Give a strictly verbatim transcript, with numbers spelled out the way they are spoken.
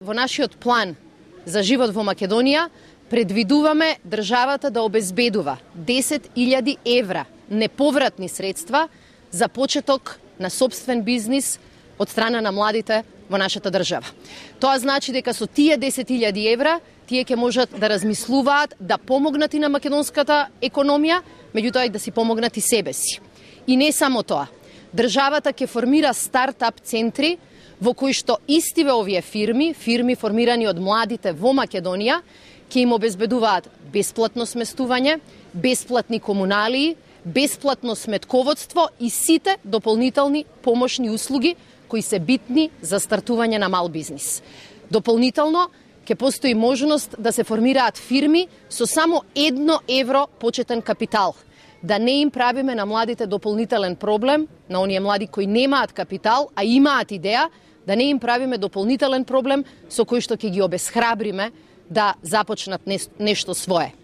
во нашиот план за живот во Македонија предвидуваме државата да обезбедува десет илјади евра неповратни средства за почеток на собствен бизнис од страна на младите во нашата држава. Тоа значи дека со тие десет илјади евра тие ќе можат да размислуваат да помогнат и на македонската економија, меѓутоа и да си помогнат и себе си. И не само тоа. Државата ќе формира стартап центри во кои што истиве овие фирми, фирми формирани од младите во Македонија, ќе им обезбедуваат бесплатно сместување, бесплатни комуналии, бесплатно сметководство и сите дополнителни помошни услуги кои се битни за стартување на мал бизнис. Дополнително, ќе постои можност да се формираат фирми со само едно евро почетен капитал. Да не им правиме на младите дополнителен проблем, на оние млади кои немаат капитал, а имаат идеја, да не им правиме дополнителен проблем со кој што ќе ги обесхрабриме да започнат нешто свое.